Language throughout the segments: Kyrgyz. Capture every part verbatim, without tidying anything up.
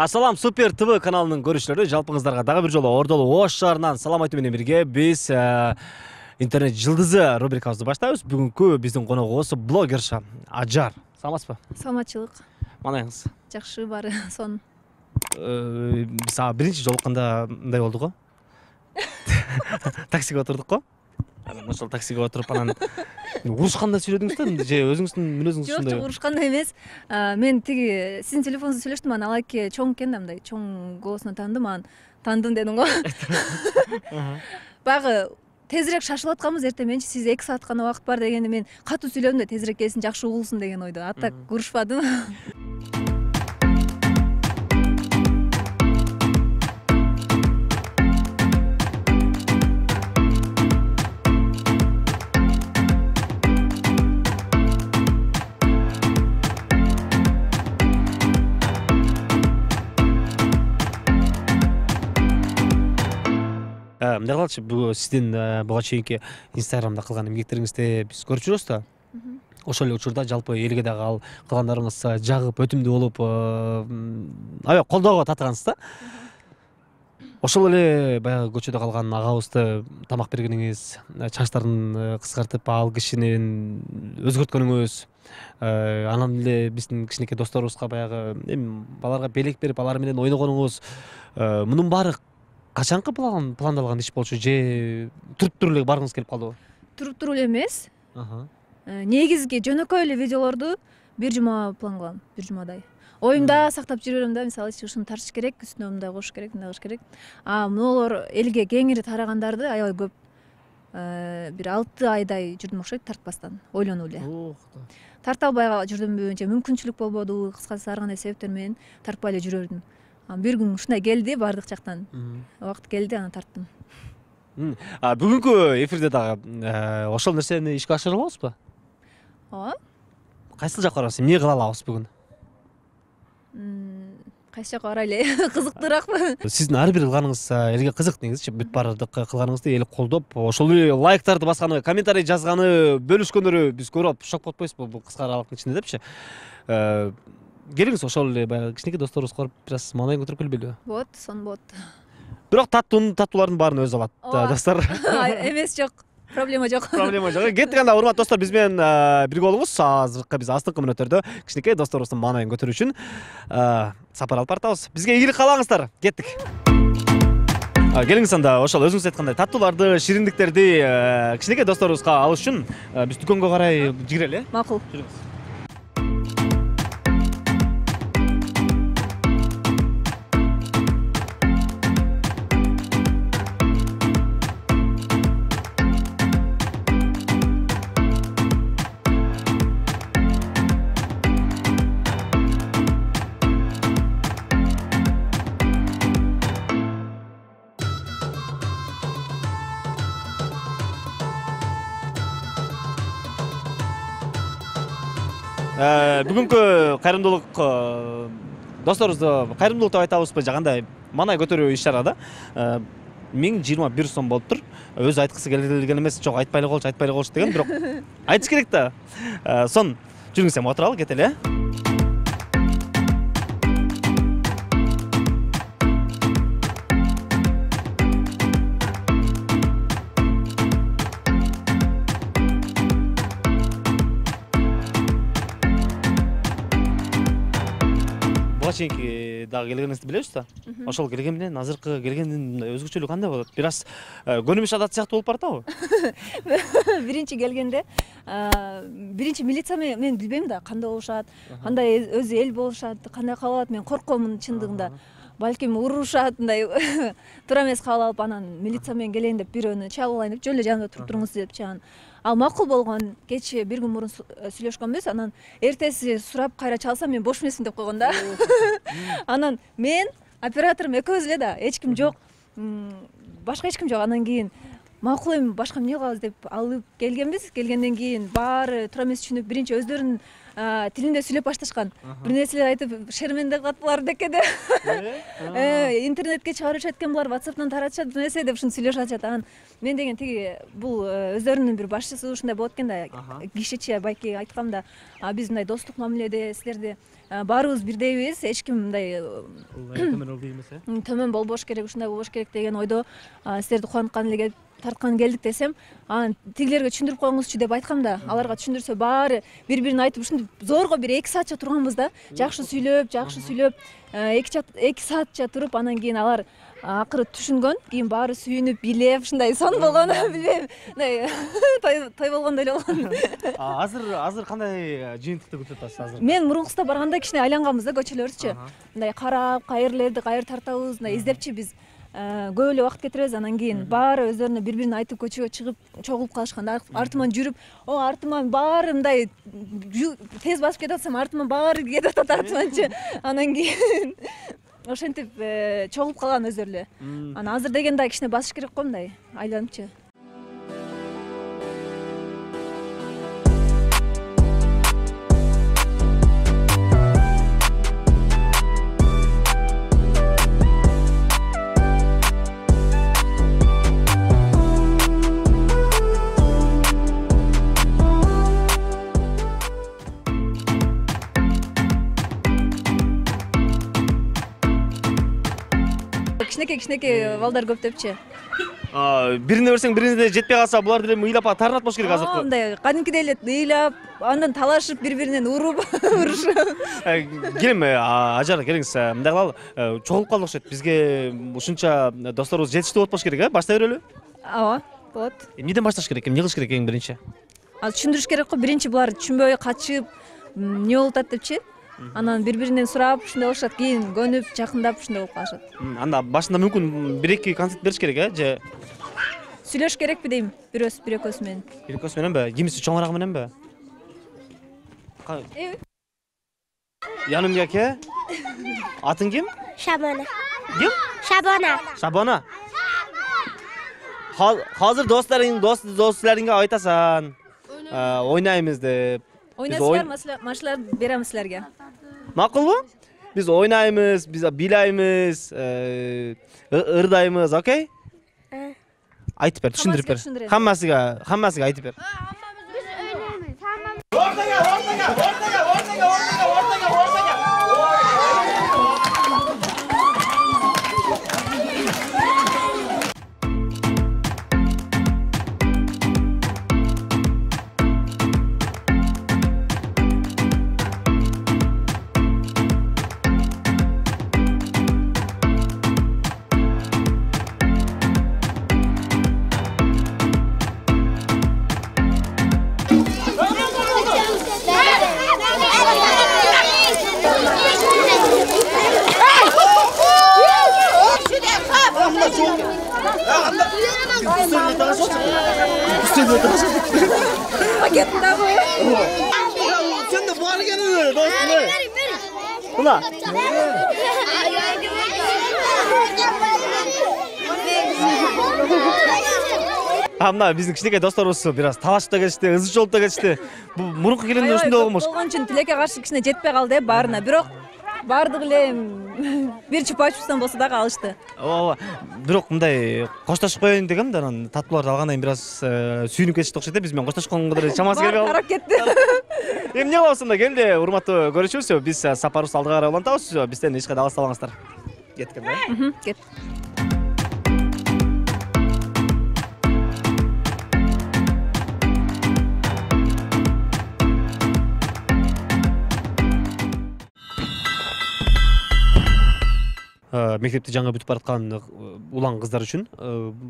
Ассалам, Супер ТВ каналынын көрүүчүлөрү, жалпыңыздарга дагы бир жолу Ордолу Ош шаарынан салам айтуу менен бирге биз интернет жылдызы рубрикабызды баштайбыз. Бүгүнкү биздин коногубуз блогерша Ажар. Саламатсызбы? Саламатчылык. Манайыңыз? Жакшы, баары сонун. Биз биринчи жолукканда мындай болду го. Таксиге отурдук го. Ошол таксиге отуруп анан урушканда сүйлөдүңүз да, же өзүңүздүн мүнөзүңүз ушундай? Жок, урушканда эмес. Мен тиги сиздин телефонуңузду сүйлөштүм, анан ал эки чоң экен да, мындай чоң голосуна таандым, анан таандым дедим го. Баягы тезирээк шашылып атканбыз, эртең менчи сиз эки саат гана убакыт бар дегенде мен катуу сүйлөдүм да, тезирээк келсин, жакшы угулсун деген ойдо. А так урушпадым. Мындай кылчы, бул сиздин буга чейинки Инстаграмда кылган эмгектериңизди биз көрүп жүрөбүз да. Ошол эле учурда жалпы элге дагы ал кылгандарыңыз жагып, өтүмдүү болуп, аябай колдоого таткансыз да. Ошол эле баягы көчөдө калган агабызды тамак бергениңиз, чачтарын кыскартып, ал кишинин өзгөрткөнүңүз, анан эле биздин кичинекей досторубузга баягы эми баларга белек берип, алар менен ойногонуңуз, мунун баары качанкы пландалган иш болчу, же туруп туруп эле баргыңыз келип калдыбы? Туруп туруп эле эмес. Негизги жөнөкөй эле видеолорду бир жума план кылам, бир жумадай. Оюмда сактап жүрө берем да, мисалы ушуну тартыш керек, үстүнө мындай коюш керек, мындай кылыш керек. А могулор элге кеңири тарагандарды аябай көп, бир алты айдай жүрдүм окшойт тартпастан, ойлонуп эле. Тарта албай жүрдүмбү, же мүмкүнчүлүк болбоду, кыскасы ар кандай себептер менен тартпай эле жүрө бердим. Бир күн ушундай келди, бардык жактан. Убакыт келди, аны тарттым. Бүгүнкү эфирде дагы ошол нерсени ишке ашыра алабызбы? Ооба. Кайсыл жакка барабыз? Эмне кыла алабыз бүгүн? Кайсы жакка барайлы? Кызыктуураакпы? Сиздин ар бир кылганыңыз элге кызык, негизичи бүт баардык кылганыңызды эл колдоп, ошол эле лайктарды басканы, комментарий жазганы, бөлүшкөндөрү биз көрүп алып шок болуп атпайбызбы бул кыска аралыктын ичинде депчи? Келиңиз, ошол эле баягы кичинекей досторубузга барып бир аз маанайын көтөрүп келбейлиби? Болот, сонун болот. Бирок таттуунун таттуулардын баарын өзү алат достор. Эмес, жок. Проблема жок. Проблема жок. Кеттик анда, урматтуу достор, биз менен бирге болуңуз. Азыркы биз астыңкы мүнөттөрдө кичинекей досторубуздун маанайын көтөрүү үчүн сапар алып баратабыз. Бизге ийгилик каалаңыздар. Кеттик. Келиңиз анда, ошол өзүңүз айткандай таттууларды, шириндиктерди кичинекей досторубузга алыш үчүн биз дүкөнгө карай жигирели. Макул. Бүгүнкү кайрымдуулук досторубузду кайрымдуулук деп айтабызбы, же кандай маанай көтөрүү иш чарада миң жыйырма бир сом болуптур. Өзү айткысы келген эмес, жок айтпай эле коелучу, айтпай эле коелучу деген, бирок айтыш керек да. Сон жүрүңүз, эми отуралы, кетели. Чейинки дагы келгениңизди билебиз да. Ошол келген менен азыркы келгендин өзгөчөлүгү кандай болот? Бир аз көнүмүш адат сыяктуу болуп баратабы? Биринчи келгенде биринчи милиция мен билбейм да, кандай болушат, кандай өзү эл болушат, кандай кабыл алат, мен коркомун чындыгында. Балким урушат, мындай туура эмес кабыл алып, анан милиция менен келейин деп бирөөнү чалып алайын деп, жөн эле жанымда туруп туруңуз депчи. Ал макул болгон. Кечээ бир күн мурун сүйлөшкөнбүз, анан эртеси сурап кайра чалсам мен бош эмесмин деп койгон да. Анан мен операторум экөөбүз эле да, эч ким жок. Башка эч ким жок. Анан кийин макул эми башка эмне кылабыз деп алып келгенбиз. Келгенден кийин баары туура эмес түшүнүп, биринчи өздөрүнүн тилинде сүйлөп башташкан. Бир нерселер айтып, шерменде кылат булар декеде. Интернетке чыгарышат экен булар, WhatsApp'тан таратышат бир нерсе деп ушуну сүйлөшүп атышат. Анан мен деген тиги бул өздөрүнүн бир башчысы ушундай болот экен да. Кишиче байке айткам да, биз мындай достук мамиледе силерди баарыбыз бирдейбиз, эч ким мындай төмөн болбош керек, ушундай болбош керек деген ойдо силерди кубанткан эле тарткан келдик десем, анан тигилерге түшүндүрүп коюңузчу деп айткам да, аларга түшүндүрсө баары бири-бирин айтып ушинтип зорго бир эки саатча турганбыз да. Жакшы сүйлөп, жакшы сүйлөп, эки саатча туруп, анан кийин алар акыры түшүнгөн, кийин баары сүйүнүп, билеп, ушундай сон болгон, билбейм, мындай той болгондой эле болгон. Азыр азыр кандай жыйынтыкты күтүп атасыз азыр? Мен мурункусуда барганда кичине айланганбыз да көчөлөрүбүзчү. Мындай карап, кайерлерди кайер тартабыз, мындай издепчи биз көп эле убакыт кетиребиз. Анан кийин баары өздөрүнө бири-бирин айтып көчөгө чыгып, чогулуп калышкан. Артыман жүрүп, о артыман баары мындай тез басып кетип атсам, артыман баары кетип атат артыманчы. Анан кийин ошентип чогулуп калган өздөрү эле. Анан азыр деген да кичине басыш керек го мындай айланычы. Кичинекей балдар көптөпчү. Бирине берсең бирине жетпей калса, булар деле ыйлап тарынат болуш керек азыркы. Мындай кадимкидей эле ыйлап, андан талашып, бири-биринен уруп, урушуп. Келем, ажар, келиңиз. Мындай кылалы, чогулуп калдык окшойт. Бизге ушунча досторубуз жетиштүү болуп калыш керек, э? Баштай берели? Ооба, болот. Эмнеден башташ керек? Эмне кылыш керек эң биринчи? Азыр түшүндүрүш керек го, биринчи булар түшүнбөй качып, эмне болуп атат депчи. Анан бири-биринен сурап, ушундай болушат, кийин көнүп, жакындап ушундай болуп калышат. Анда башында мүмкүн бир-эки концерт бериш керек, э? Же сүйлөш керекпи дейм, бирөөс бир экөөсү менен. Бир экөөсү мененби? Кимиси чоңурагы мененби? Янымга ке? Атың ким? Шабана. Ким? Шабана. Шабана. Азыр досторуң, досторуңга айтасаң, ойнайбыз деп. Ойнайсыздар, машалар беребиз силерге. Макулбу? Биз ойнайбыз, биз бийлайбыз, ырдайбыз, окей? Айтып бер, түшүндүрүп бер. Хаммасыга, хаммасыга айтып бер. Биз ойнайбыз. Ортага, ортага, ортага, ортага, ортага, ортага, ортага. Sen de bağır gelin dostum. Ulan. Hamna bizdin кичинекей досторубуз бир аз талашып да кетишти, ызы чолуп да кетишти. Бул мурунку келгенде ушундай болгонбуш. Болгон үчүн тилекке каршы кичине жетпей калды э баарына. Бирок баардыгы эле бир чупа-чупстан болсо да калышты. Ооба. Бирок мындай коштошуп коеюн дегем да, анан татууларды алгандан кийин бир аз сүйүнүп кетишти окшойт э. Биз менен коштошконго деле чамасы келбей калды. Карап кетти. Эмне кылабыз анда? Келди, урматтуу көрүүчүбүз. Биз сапарыбызды алдыга карай улантабыз. Бизден эч кайда алыстабаңыздар. Кеттик да. Кет. Мектепти жаңы бүтүп бараткан улан кыздар үчүн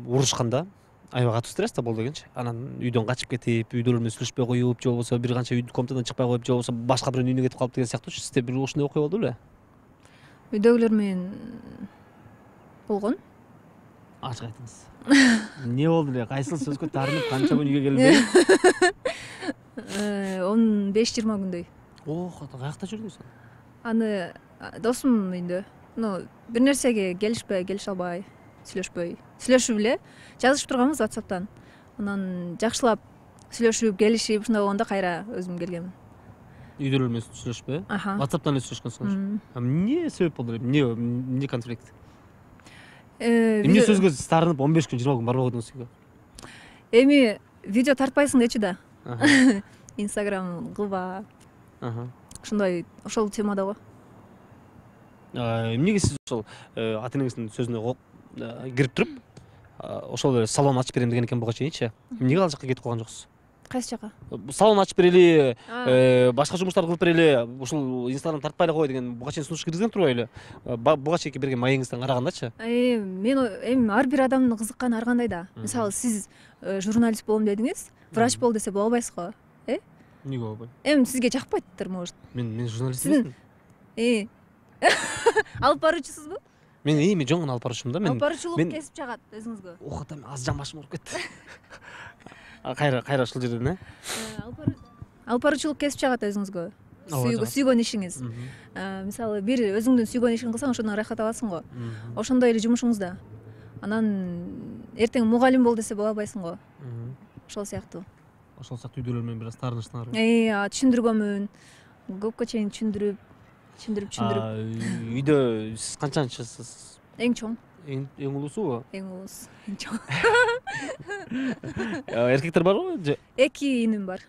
урушканда аябай катуу стресс да болду экенчи. Анан үйдөн качып кетип, үйдөлөр менен сүйлөшпөй коюп, же болбосо бир канча үйдүн комнатадан чыкпай коюп, же болбосо башка бирөөнүн үйүнө кетип калып деген сыяктуу. Сизде бир ушундай окуя болду беле? Үйдөгүлөр менен болгон. Ачык айтыңыз. Эмне болду эле? Кайсыл сөзгө тарынып, канча күн үйгө келбей? он беш жыйырма күндөй. Ох, каякта жүрдүңүз? Аны досумдун үйүндө. Ну, бир нерсеге келишпей, келише албай. сүйлөшпөй сүйлөшүп эле жазышып турганбыз WhatsApp'тан. Анан жакшылап сүйлөшүп келишип ушундай болгондо кайра өзүм келгенмин. Үйдө эле сүйлөшпөй, э? WhatsApp'тан эле сүйлөшкөнсүңөр. Эмне себеп болду? Эмне эмне конфликт? Эмне сөзгө тарынып он беш күн жыйырма күн барбай койдуңуз үйгө? Эми видео тартпайсың дечи да. Instagram кылба. Ошондой ошол темада го. Эмнеге сиз ошол ата энеңиздин сөзүнө кирип туруп, ошол эле салон ачып берем деген экен буга чейинчи. Эмнеге ал жака кетип калган жоксуз? Кайсы жака? Салон ачып берели, башка жумуштарды кылып берели, ушул Instagram тартпай эле кой деген буга чейин сунуш киргизген турбайбы эле? Буга чейинки берген маегиңизден карагандачы? Мен эми ар бир адамдын кызыкканы ар кандай да. Мисалы, сиз журналист болом дедиңиз, врач бол десе боло албайсыз го, э? Эмнеге болбойт? Эми сизге жакпайттыр, может. Мен мен журналист эмесмин. Э. Алып баруучусузбу? Мен эми жөн гана алып баруучумун да. Мен алып баруучулук кесип чагат өзүңүзгө. Охот эми аз жан башым ооруп кетти. Кайра кайра ушул жерден, э? Алып баруучулук кесип чагат өзүңүзгө. Сүйгөн ишиңиз. Мисалы, бир өзүңдүн сүйгөн ишиңди кылсаң, ошондон рахат аласың го. Ошондой эле жумушуңуз да. Анан эртең мугалим бол десе боло албайсың го. Ошол сыяктуу. Ошол сыяктуу үйдөлөр менен бир аз таарынычтыңарбы? Э, түшүндүргөнмүн. Көпкө чейин түшүндүрүп, түшүндүрүп, түшүндүрүп. Үйдө сиз канчанчысыз? Эң чоң. Эң улуусубу? Эң улуус, эң чоң. Эркектер барбы же? Эки иним бар.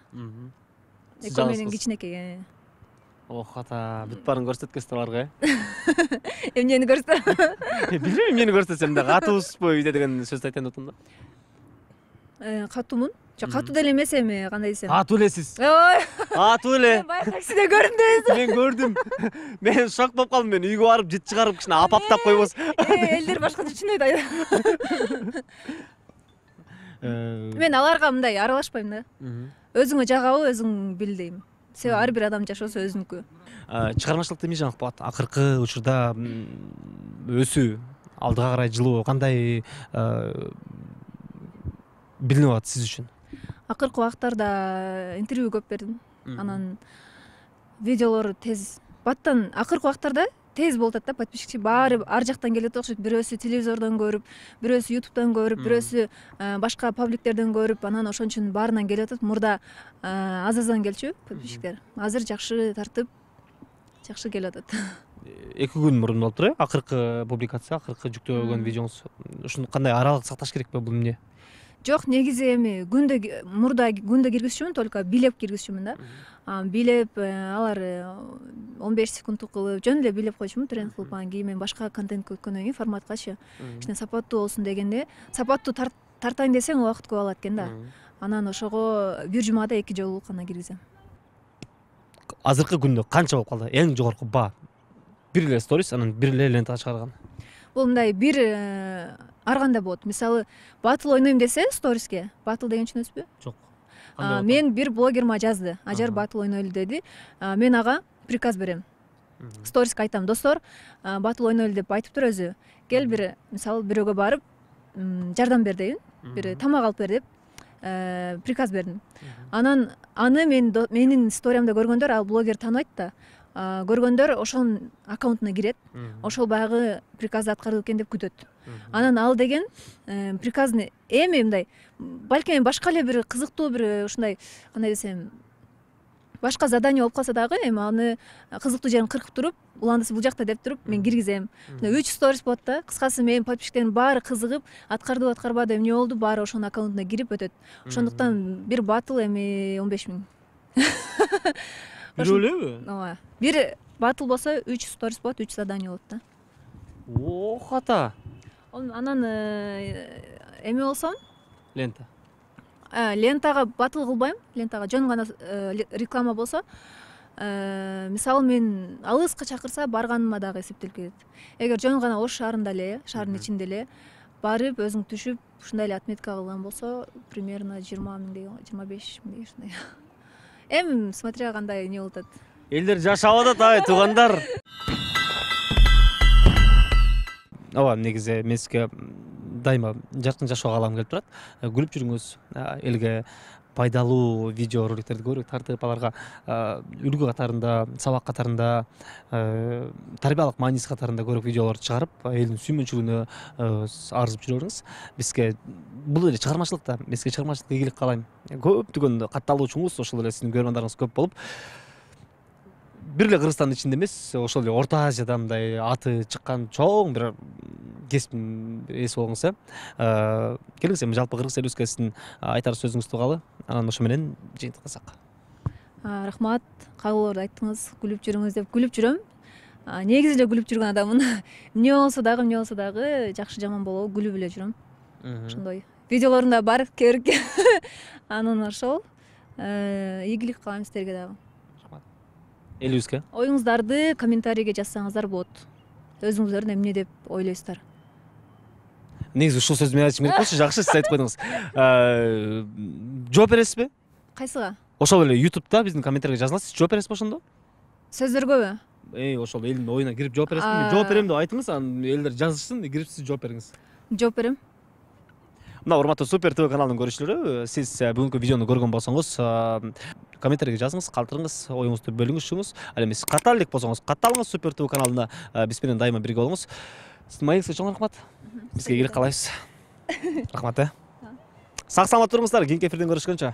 Экөө менен кичинекей. Ох, ата, бүт баарын көрсөткөнсүз аларга, э? Эмнени көрсөтөм? Билбейм, эмнени көрсөтсөм да, катуусузбу үйдө деген сөздү айтайын деп атам да. Э, катуумун? Жок, катуу деле эмес эми, кандай десем. Катуу элесиз. Ой. Катуу эле. Мен баягы таксиде көрдүм дебесиң. Мен көрдүм. Мен шок болуп калдым. Мен үйгө барып жыт чыгарып кичине апаптап койбос. Элдер башкача түшүнбөйт. Мен аларга мындай аралашпайм да. Өзүңө жагабы, өзүң бил дейм. Себеби ар бир адам жашоосу өзүнүкү. Чыгармачылыкта эмне жаңылык болот? Акыркы учурда өсүү, алдыга карай жылуу кандай билинип атат сиз үчүн? Акыркы убактарда интервью көп бердим. Анан видеолор тез баттан акыркы убактарда тез болуп атат да, подписчик баары ар жактан келет окшойт. Бирөөсү телевизордон көрүп, бирөөсү ютубтан көрүп, бирөөсү башка пабликтерден көрүп, анан ошон үчүн баарынан келип атат. Мурда аз-аздан келчү подписчиктер. Азыр жакшы тартып, жакшы келип атат. Эки күн мурун болуптур, э? Акыркы публикация, акыркы жүктөгөн видеоңуз. Ушуну кандай аралык сакташ керекпи, бул эмне? Жок, негизи эми күндө мурда күндө киргизчүмүн, только билеп киргизчүмүн да. Билеп алар он беш секундтук кылып, жөн эле билеп койчумун, тренд кылып, анан кийин мен башка контент көткөндөн кийин форматкачы кичине сапаттуу болсун дегенде, сапаттуу тартайын десең убакыт көп алат экен да. Анан ошого бир жумада эки жолу гана киргизем. Азыркы күндө канча болуп калды? Эң жогорку баа? Бир эле сторис, анан бир эле лентага чыгарган. Бул мындай бир ар кандай болот. Мисалы, батыл ойнойм десе сториске, батыл деген түшүнөсүзбү? Жок. Мен бир блогерма жазды. Ажар батыл ойнойлу деди. Мен ага приказ берем. Сториске айтам: "Достор, батыл ойнойлу" деп айтыптыр өзү. Кел бир, мисалы, бирөөгө барып, жардам бер дейбин. Бир тамак алып бер деп приказ бердим. Анан аны мен менин сториямда көргөндөр, ал блогер тааныбайт да. Көргөндөр ошонун аккаунтуна кирет. Ошол баягы приказды аткарып экен деп күтөт. Анан ал деген приказны эми мындай, балким башка эле бир кызыктуу бир ушундай, кандай десем, башка задание болуп калса дагы, эми аны кызыктуу жерин кыркып туруп, уландысы бул жакта деп туруп мен киргизем. үч сторис болот да. Кыскасы менин подписчиктерим баары кызыгып, аткарды аткарбады, эмне болду, баары ошонун аккаунтуна кирип өтөт. Ошондуктан бир батыл эми он беш миң. Бирөө элеби? Ооба. Бир батыл болсо үч сторис болот, үч задание болот да. Ох, ата. Анан эме болсо, лента. Лентага батыл кылбайм, лентага жөн гана реклама болсо, мисалы мен алыска чакырса барганыма дагы эсептелип кетет. Эгер жөн гана Ош шаарында эле, шаардын ичинде эле барып өзүң түшүп, ушундай эле отметка кылган болсо, примерно жыйырма миң деген, жыйырма беш миң деген ушундай. Эми смотря кандай эмне болуп атат. Элдер жашап атат, ай, туугандар. Ооба, негизи мен сизге дайыма жаркын жашоо каалагым келип турат. Күлүп жүрүңүз, элге пайдалуу видео роликтерди көбүрөөк тартып, аларга үлгү катарында, сабак катарында, тарбиялык мааниси катарында көбүрөөк видеолорду чыгарып, элдин сүймөнчүлүгүнө арзып жүрө бериңиз. Бизге бул эле чыгармачылыкта, бизге чыгармачылыкка ийгилик каалайм. Көптөгөн катталуучуңуз, ошол эле сиздин көрөрмандарыңыз көп болуп, бир эле Кыргызстандын ичинде эмес, ошол эле Орто Азияда мындай аты чыккан чоң бир кесиптин ээси болуңуз, э. Келиңиз, эми жалпы кыргыз элибизге сиздин айтар сөзүңүздү угалы, анан ошо менен жыйынтыктасак. Рахмат, кайгыларды айттыңыз, күлүп жүрүңүз деп күлүп жүрөм. Негизи эле күлүп жүргөн адаммын. Эмне болсо дагы, эмне болсо дагы жакшы жаман болобу күлүп эле жүрөм. Ошондой. Видеолорунда бар керик. Анан ошол ийгилик каалайм сиздерге дагы. Элибизге. Оюңуздарды комментарийге жазсаңыздар болот. Өзүңүздөрдүн эмне деп ойлойсуздар? Негизи ушул сөздү мен айтышым керек болчу, жакшы сиз айтып койдуңуз. Жооп бересизби? Кайсыга? Ошол эле YouTube'да биздин комментарийге жазыласыз, жооп бересизби ошондо? Сөздөргөбү? Эй, ошол элдин оюна кирип жооп бересизби? Мен жооп берем деп айтыңыз, анан элдер жазышсын, кирип сиз жооп бериңиз. Жооп берем. Мына урматтуу Супер ТВ каналынын көрүүчүлөрү, сиз бүгүнкү видеону көргөн болсоңуз, комментарийге жазыңыз, калтырыңыз, оюңузду бөлүңүзчүңүз. Ал эми сиз каттал элек болсоңуз, катталыңыз Супер ТВ каналына, биз менен дайыма бирге болуңуз. Сиздин маегиңизге чоң рахмат. Бизге ийгилик каалайбыз. Рахмат, э. Сак саламат туруңуздар, кийинки эфирден көрүшкөнчө.